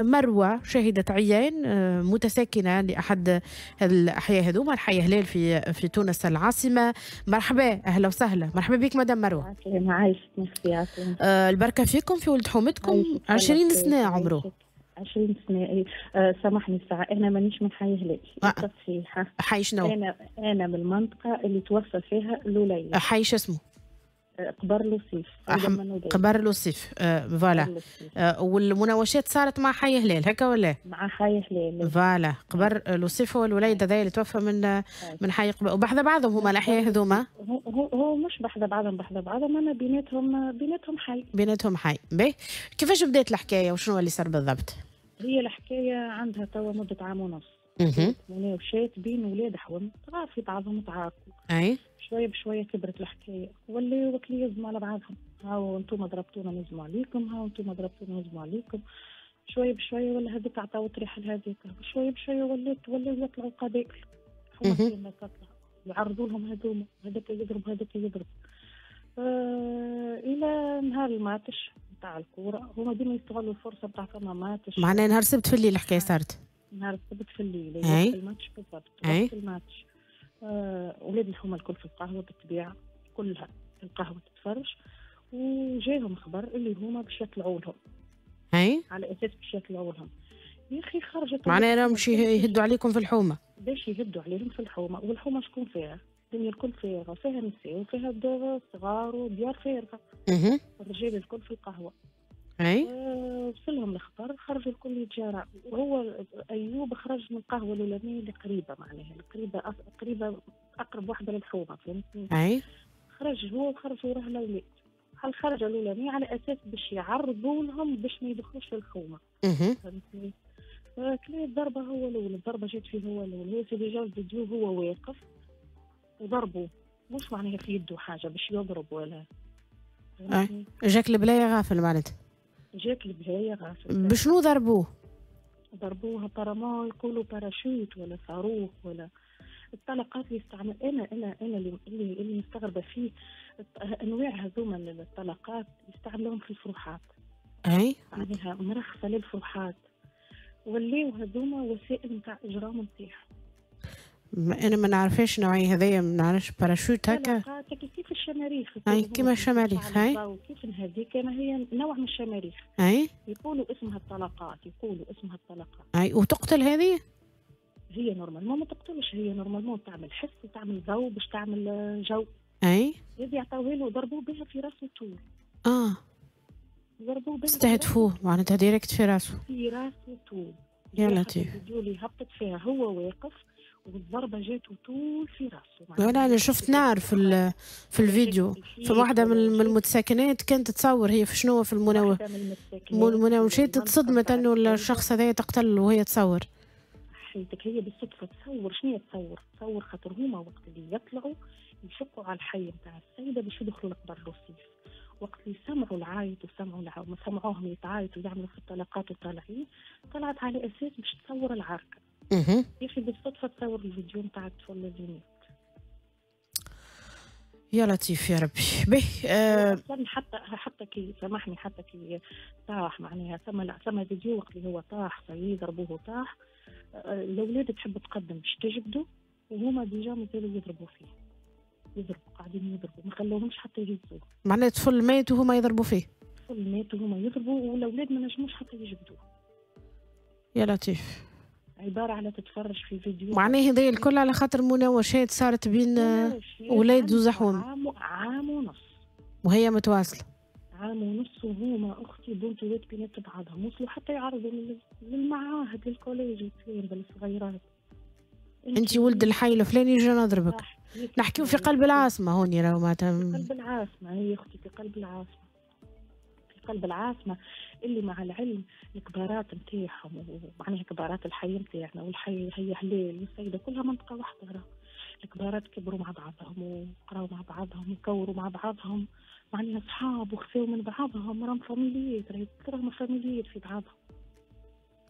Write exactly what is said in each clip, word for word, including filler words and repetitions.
مروة شاهدة عيان متساكنة لأحد الأحياء هذوما، الحي هلال في في تونس العاصمة. مرحبا، أهلا وسهلا، مرحبا بك مدام مروة. عايشك، آه البركة فيكم في ولد حومتكم. عشرين سنة عمره. عشرين سنة. إيه. آه سامحني الساعة، أنا مانيش من حي هلال. آه. تصحيح. حي شنو؟ أنا أنا من المنطقة اللي توفى فيها الوليد. حي شو اسمه؟ قبر لوصيف. قبر لوصيف، آه voilà. آه والمناوشات صارت مع حي هلال هكا ولا؟ مع حي هلال voilà. قبر لوصيف هو الوليد هذا اللي توفى من من حي قبر، وبحذا بعضهم هما الاحياء هذوما. هو هو مش بحذا بعضهم، بحذا بعضهم، انا بيناتهم بيناتهم حي. بيناتهم حي. باهي، كيفاش بدات الحكاية وشنو اللي صار بالضبط؟ هي الحكاية عندها توا مده عام ونص. مناوشات بين ولاد حوم صغار في بعضهم تعاركوا. اي شوية بشوية كبرت الحكاية، ولاو وكلي يزموا على بعضهم، هاو انتم ضربتونا نزموا عليكم، هاو انتم ضربتونا نزموا عليكم. شوية بشوية ولا هذيك عطاو طريحه لهذيك، شوية بشوية ولات ولاو يطلعوا قبائل، حومه تطلع يعرضوا لهم هذوما، هذاك يضرب هذاك يضرب. آه الى نهار الماتش نتاع الكورة، هما ديما يستغلوا الفرصة نتاع فما ماتش. معناها نهار السبت في الليل الحكاية صارت؟ نهار السبت في الليل، وقت الماتش بالضبط، وقت الماتش. آه، ولاد الحومه الكل في القهوة بالطبيعة، كلها في القهوة تتفرج، وجاهم خبر اللي هما باش يطلعوا لهم. اي على اساس باش يطلعوا لهم. يا اخي خرجت، معناها راهم باش يهدوا عليكم في الحومه. باش يهدوا عليهم في الحومه، والحومه شكون فيها؟ الدنيا الكل فارغة، فيها نساء وفيها صغار وديار فارغة. الرجال الكل في القهوة. اي وصلهم الخبر، خرجوا الكل يتجارى، وهو ايوب خرج من القهوة الاولانية اللي قريبه، معناها القريبة قريبه اقرب واحدة للحومه، فهمتني؟ اي خرج هو وخرج وراه الاولاد. الخرجه الاولانية على اساس باش يعرضوا لهم باش ما يدخلوش للحومه. فهمتني؟ كلا الضربة هو الاول، الضربة جات فيه هو الاول، هو déjà الفيديو هو واقف وضربوه، مش معناها في يده حاجة باش يضرب ولا. اي جاك البلايه غافل معناتها. جاك البلايه غافل. بشنو ضربوه؟ ضربوه apparemment يقولوا باراشوت ولا صاروخ ولا الطلقات اللي يستعمل. انا انا انا اللي اللي, اللي مستغربه فيه انواع هذوما الطلقات يستعملوهم في الفروحات. اي معناها مرخصة للفروحات، ولاو هذوما وسائل نتاع اجرام نتاعهم. انا ما نعرفش نوعية هذايا، ما نعرفش باراشوت هكا. كيف الشماريخ. اي كيما الشماريخ. اي كيف هذيك هي نوع من الشماريخ. اي يقولوا اسمها الطلقات، يقولوا اسمها الطلقات. اي وتقتل هذه؟ هي normalement ما تقتلش، هي normalement تعمل حس وتعمل ضوء باش تعمل جو. اي هذه عطاوها له ضربوه بها في راسه طول. اه ضربوه بها، استهدفوه معناتها direct في راسه. في راسه طول. يا لطيف. الفيديو اللي هبطت فيها هو واقف والضربه جاته طول في راسه. انا انا شفت نار في في الفيديو، في واحدة من المتساكنات كانت تصور هي في شنو في المناو المناوشات، تصدمت انه الشخص هذا تقتل وهي تصور. حيتك هي بالصدفة تصور، شنو تصور؟ تصور خاطر هما وقت اللي يطلعوا يشقوا على الحي نتاع السيدة باش يدخلوا لقبر لوصيف، وقت اللي سمعوا العايط وسمعوا الع... سمعوهم يتعايطوا ويعملوا في الطلقات وطالعين، طلعت على اساس باش تصور العركه. اها يا اخي بالصدفة تصور الفيديو نتاع الطفل اللي مات. يا لطيف يا ربي. به آه اصلا حتى حتى كي سامحني حتى كي طاح معناها ثم ثم فيديو وقت اللي هو طاح صاي ضربوه طاح، الاولاد تحب تقدم باش تجبدوا وهما déjà مازالوا يضربوا فيه، يضربوا قاعدين يضربوا، ما خلوهمش حتى يهزوه. معناها الطفل مات وهما يضربوا فيه. الطفل مات وهما يضربوا والاولاد ما نجموش حتى يجبدوه. يا لطيف. عبارة على تتفرج في فيديو. معناها هذا الكل على خاطر مناوشات صارت بين ولاد وزحوم. عام, عام ونص وهي متواصلة. عام ونص وهما اختي بنتوات بينات بعضهم، وصلوا حتى يعرضوا للمعاهد لل collège الصغيرات. انت ولد الحي الفلاني جا نضربك. نحكيو في قلب العاصمة هوني راهو معناتها. في قلب العاصمة هي اختي، في قلب العاصمة. في قلب العاصمة اللي مع العلم الكبارات نتاعهم ومعناها كبارات الحي نتاعنا والحي هي هلال والسيدة كلها منطقة واحدة، راه الكبارات كبروا مع بعضهم وقراوا مع بعضهم وكوروا مع بعضهم، معناها صحاب وخفاو من بعضهم، راهم فاميليات، راهم فاميليات في بعضهم.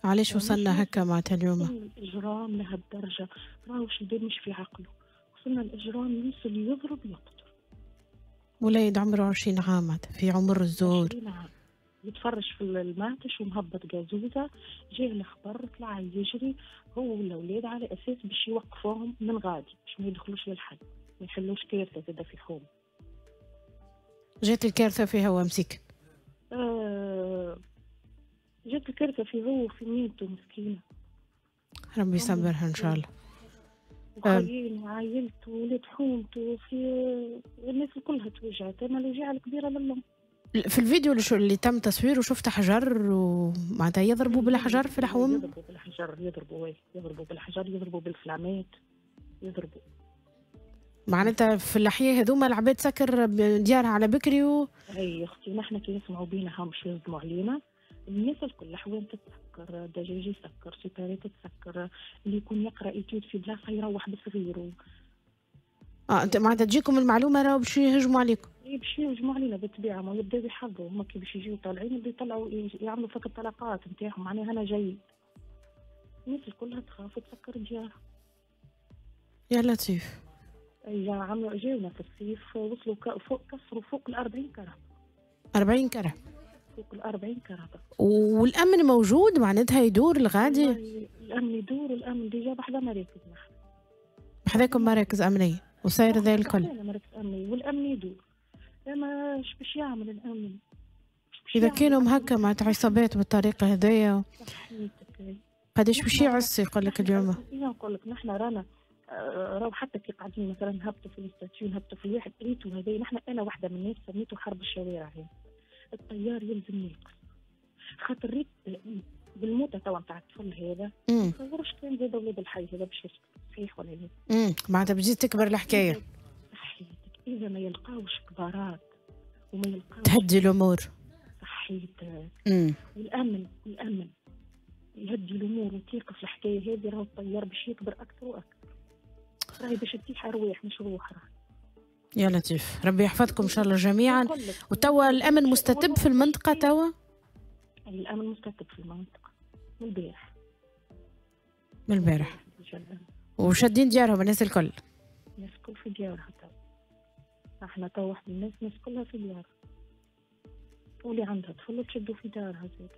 علاش وصلنا هكا معناتها اليوم؟ الاجرام لهالدرجة، راهو الشباب مش في عقله، وصلنا الاجرام يوصل يضرب يقتل. وليد عمره عشرين عام في عمر الزور. عشرين عام. يتفرج في الماتش ومهبط قازوزه، جاه الخبر طلع يجري هو والاولاد على اساس باش يوقفوهم من غادي باش ما يدخلوش للحي، ما يحلوش كارثة زاده في الحومه. جات الكارثة فيها هو مسكين. آه جات الكارثة في هو وفي ميته مسكينه. ربي يصبرها ان شاء الله. وخيين وعائلته وولاد حومته في الناس كلها توجعت، اما الوجيعه الكبيرة للام. في الفيديو اللي, اللي تم تصويره شفت حجر ومعناتها يضربوا بالحجر في الحوم؟ يضربوا بالحجر، يضربوا يضربوا بالحجر، يضربوا بالفلامات، يضربوا. معناتها في الأحياء هذوما العباد سكر ديارها على بكري و... اي اختي نحن كي يسمعوا بينا هم باش يصدموا علينا، الناس الكل الحوام تتسكر، الدجاج يسكر، supérette تتسكر، اللي يكون يقرا étude في بلاصة يروح بصغيره. اه انت معناتها تجيكم المعلومة راهو باش يهجموا عليكم. اي باش يهجموا علينا بالطبيعة، ما يبداو يحضروا هما كي باش يجيو طالعين يبداو يطلعوا يعملوا فك الطلقات نتاعهم، معناها انا جاي. الناس الكلها تخاف وتسكر ديارها. يا لطيف. اي عملوا جاونا في الصيف وصلوا فوق كسروا فوق ال أربعين كرهبه. أربعين كرهبه. فوق ال أربعين كرهبه. والامن موجود معناتها يدور الغادي؟ الامن يدور، الامن déjà بحذا مراكز نحن. بحذاكم مراكز امنية وصاير ذا الكل. مراكز امنية والامن يدور. اما اش باش يعمل الامن؟ اذا كانوا مهكا معناتها عصابات بالطريقة هذيا قداش باش يعس يقول لك اليوم؟ نقول لك نحن رانا راهو حتى كي قاعدين مثلا نهبطوا في ال statut نهبطوا في الواحد ريتو هذا، نحن انا واحدة من الناس سميته حرب الشوارع هذه. الطيار يلزم يقف خاطر ريت بالموتة توا نتاع الطفل هذا ما تصورش كان زاد ولاد الحي هذا باش يسكت، صحيح ولا لا؟ امم معناتها بتزيد تكبر الحكاية. صحيتك، اذا ما يلقاوش كبارات وما يلقاوش تهدي الامور. صحيتك. والامن والامن يهدي الامور وتيقف الحكاية هذه، راهو الطيار باش يكبر اكثر واكثر. راهي باش تطيح ارواح مش روح راهي. يا لطيف، ربي يحفظكم ان شاء الله جميعا. وتوا الامن مستتب في المنطقة توا؟ الامن مستتب في المنطقة من البارح. من البارح. وشادين ديارهم الناس الكل. الناس الكل في ديارها توا. احنا توا واحد الناس الناس كلها في ديارها. واللي عندها طفل تشدوا في دارها زاد.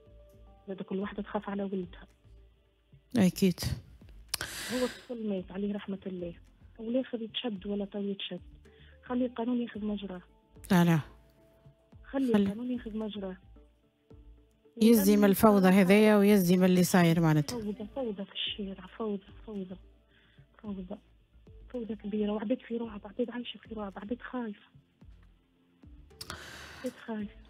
زاد كل واحدة تخاف على ولدها. اكيد. هو الطفل مات عليه رحمه الله، والاخر يتشد ولا تو يتشد. خلي القانون ياخذ مجراه. لا لا. خلي القانون ياخذ مجراه. يزي من الفوضى هذايا ويزي من اللي صاير معناتها. فوضى فوضى في الشارع، فوضى فوضى فوضى فوضى كبيرة، وعباد في رعب، عباد عايشة في رعب، عباد خايفة. عباد خايفة.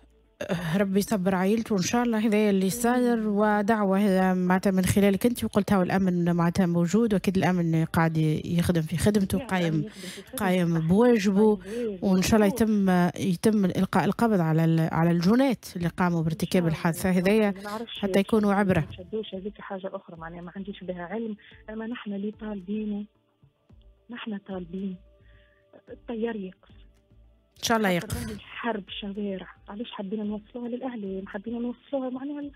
ربي يصبر عائلته وان شاء الله هذا اللي صاير، ودعوة هذا معناتها من خلالك انت وقلتها، والامن معناتها موجود واكيد الامن قاعد يخدم في خدمته قايم قايم بواجبه، وان شاء الله يتم يتم القاء القبض على على الجنات اللي قاموا بارتكاب الحادثة هذيا حتى يكونوا عبره. هذيك حاجة اخرى معناها ما عنديش بها علم، اما نحن اللي طالبينه نحن طالبين الطيار يقف. ان شاء الله يقف. حرب شوارع، علاش حبينا نوصلوها للاعلام؟ حبينا نوصلوها معناها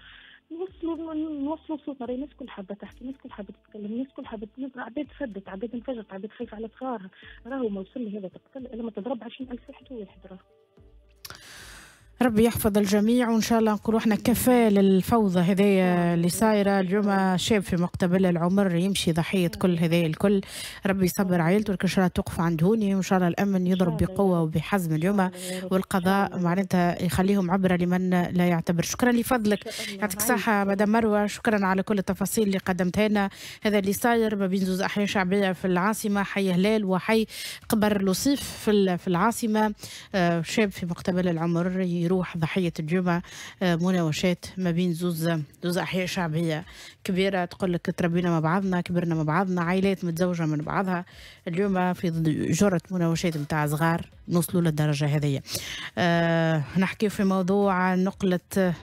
نوصلوا نوصلوا صوتنا، راهي الناس كل حابة تحكي، الناس كل حابة تتكلم، الناس كل حابة، عباد فدت، عباد انفجرت، عباد خايفة على صغارها، راهو ما وصل لهذا تقتل الا ما تضرب عشرين ألف واحد وواحد راهو. ربي يحفظ الجميع وان شاء الله نقولوا احنا كفى للفوضى هذيا اللي صايرة اليوم. شاب في مقتبل العمر يمشي ضحية كل هذايا الكل، ربي يصبر عائلته، ولكن ان شاء الله توقف عند هوني، وان شاء الله الامن يضرب بقوة وبحزم اليوم، والقضاء معناتها يخليهم عبره لمن لا يعتبر. شكرا لفضلك، يعطيك الصحة مدام مروه، شكرا على كل التفاصيل اللي قدمتها لنا. هذا اللي صاير ما بين زوز احياء شعبية في العاصمة، حي هلال وحي قبر لوصيف في العاصمة. شاب في مقتبل العمر يروح ضحية الجمعة مناوشات ما بين زوز زوز أحياء شعبية كبيرة، تقول لك تربينا مع بعضنا، كبرنا مع بعضنا، عائلات متزوجة من بعضها. اليوم في جرة مناوشات نتاع صغار نوصلوا للدرجة هذه. أه نحكي في موضوع نقلة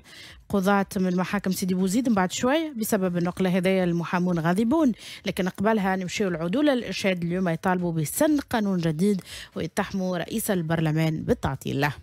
قضاة من محاكم سيدي بوزيد من بعد شوي. بسبب النقلة هذايا المحامون غاضبون، لكن قبلها نمشيو العدول الإرشاد اليوم يطالبوا بسن قانون جديد ويتحموا رئيس البرلمان بالتعطيل له.